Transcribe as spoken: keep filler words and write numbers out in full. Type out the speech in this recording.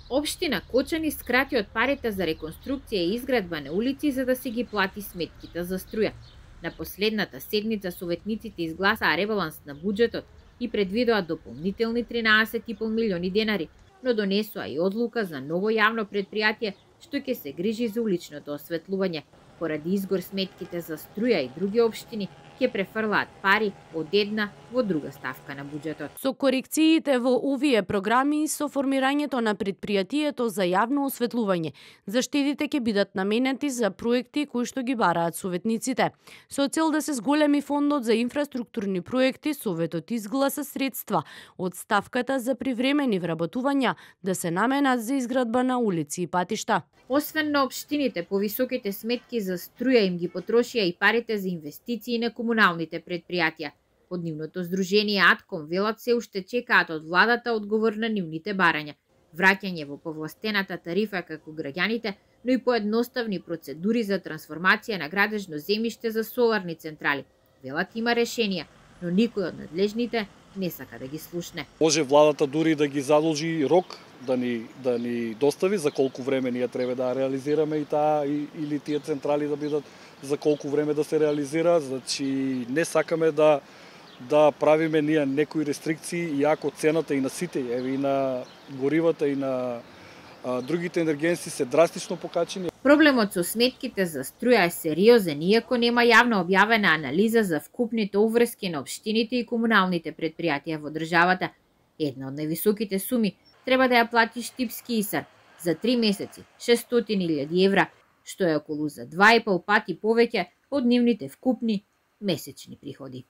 Општина Кочани скрати од парите за реконструкција и изградба на улици за да си ги плати сметките за струја. На последната седница советниците изгласаа ребаланс на буџетот и предвидоа дополнителни тринаесет и пол милиони денари, но донесоа и одлука за ново јавно предпријатие што ќе се грижи за уличното осветлување. Поради изгор сметките за струја и други општини ќе префрлаат пари од една во друга ставка на буџетот. Со корекциите во овие програми и со формирањето на предпријатието за јавно осветлување, заштедите ќе бидат наменети за проекти кои што ги бараат советниците. Со цел да се зголеми фондот за инфраструктурни проекти, советот изгласа средства од ставката за привремени вработувања да се наменат за изградба на улици и патишта. Освен на општините, повисоките сметки за струја им ги потрошија и парите за инвестиции на комуналните предпријатија. Од нивното здружение Атком велат се уште чекаат од владата одговор на нивните барања. Враќање во повластената тарифа како граѓаните, но и поедноставни процедури за трансформација на градежно земјиште за соларни централи. Велат има решенија, но никој од надлежните не сака да ги слушне. Може владата дури да ги задолжи рок да ни да ни достави за колку време ние треба да реализираме и таа и, или тие централи да бидат за колку време да се реализира, значи не сакаме да да правиме ние некои рестрикции, иако цената и на сите, еве и на горивата и на а, другите енергенси се драстично покачени. Проблемот со сметките за струја е сериозен, иако нема јавно објавена анализа за вкупните уврски на општините и комуналните предпријатија во државата. Една од највисоките суми треба да ја плати Штипски Исар за три месеци, шестстотини илјади евра, што е околу за два и пол пати повеќе од нивните вкупни месечни приходи.